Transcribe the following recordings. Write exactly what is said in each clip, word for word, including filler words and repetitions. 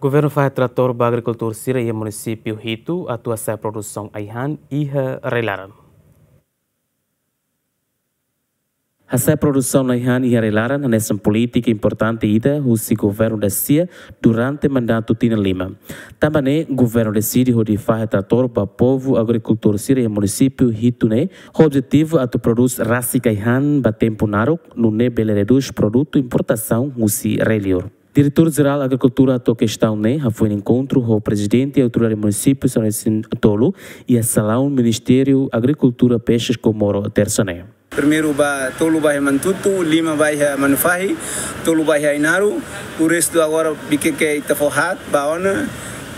Governu fahe tratór ba agrikultór sira iha munisípiu hitu atu hasa'e produsaun ai-han iha rai-laran. Hasa'e produsaun ai-han iha rai-laran hanesan polítika importante ida husi governu da-sia durante mandatu tinan lima. Tanba ne'e, governu deside hodi fahe tratór ba povu agrikultór sira iha munisípiu hitu ne'e, ho objetivu atu prodús rasik ai-han ba tempu naruk, nune'e bele redús produtu importasaun husi rai-liur. Diretór Jerál Agrikultura hato'o kestaun ne'e hafoin enkontru ho Prezidente Autoridade Munisípiu São Vicente Tolu iha salaun Ministériu Agrikultura, Pexes, Comoro, tersa ne'e. Primeiru ba tolu ba iha Manatuto, lima ba iha Manufahi, tolu ba iha Ainaro, o restu agora Viqueque ita fó haat ba ona,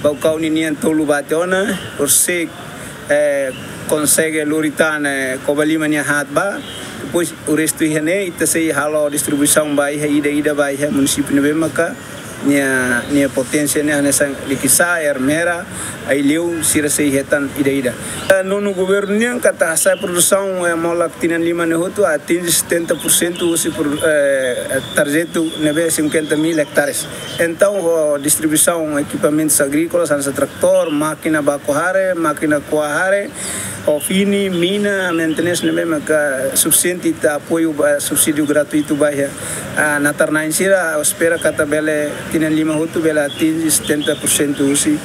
Baucau ninian tolu ba tiha ona, Orsay, eh, konsege lori tan, eh, Covalima nia haat ba, depois o restu iha ne'e, ita sei halo distribuisaun ba iha ida-ida ba iha munisípiu ne'ebé maka nia, nia poténsia ne'e hanesan Liquiçá, Ermera, Aileu, sira sei hetan ida-ida. Eh, nonu governu nian katak hasa'e produsaun, eh, molok tinan lima ne'e hotu atinje setenta por cento husi pro-, eh, tarjetu ne'ebé cinquenta mil hectares. Entaun, ho distribuisaun ekipamentus agríkolas, hanesan tratór, mákina baku hare, mákina ko'a hare, ho fini, mina, maintenance ne'ebé maka sufisiente ita apoiu ba subsídiu gratuitu ba iha, ah, natar-na'in sira, espera katak bele tinan lima hotu bele atinje setenta por cento husi,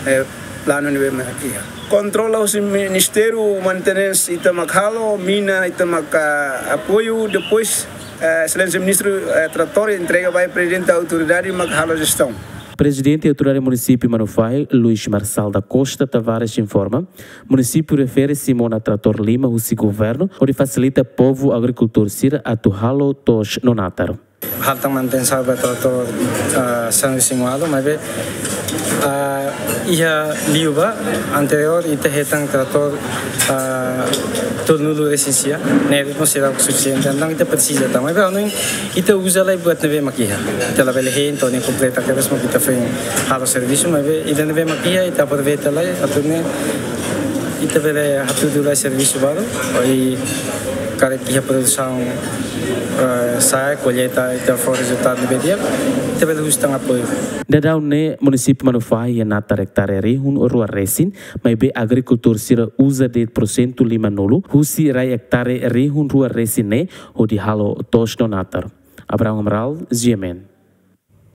eh, planu ne'ebé maka iha. Kontrola husi ministériu, maintenance ita mak halo, mina ita mak, ah, apoiu, depois, eh, Exelénsia Ministru, eh, tratór entrega ba Prezidente Autoridade mak halo jestaun. Prezidente Autoridade Munisípiu Manufahi, Luís Marçal da Costa Tavares, informa, munisípiu refere-se mona tratór lima husi governu, hodi fasilita povu agrikultór sira atu halo to'os no natar. Halo tan manutensaun ba tratór, ah, São Vicente, maibé, ah, iha liu ba anteriór ita hetan tratór, ah, tolunulu resin-sia, ne'e mós seidauk sufisiente, entaun ita presiza tan. Maibé, anu ita uza lai buat ne'ebé mak iha. Ita labele hein, entaun ne'e kompleta kedas mak ita foin halo servisu, maibé ida ne'ebé mak iha, ita aproveita lai, atu nune'e ita bele hatudu lai servisu balu, i karik iha produsaun, eh, sa'e, kolleita, ita fó rezultadu ne'ebé di'ak, ita bele husu tan apoiu. Daudaun ne'e, munisípiu Manufahi iha natar ektare rihun rua resin, maibé agrikultór sira uza de'it porsentu limanulu husi rai ektare rihun rua resin ne'e hodi halo to'os no natar. Abraham Amaral, G M N.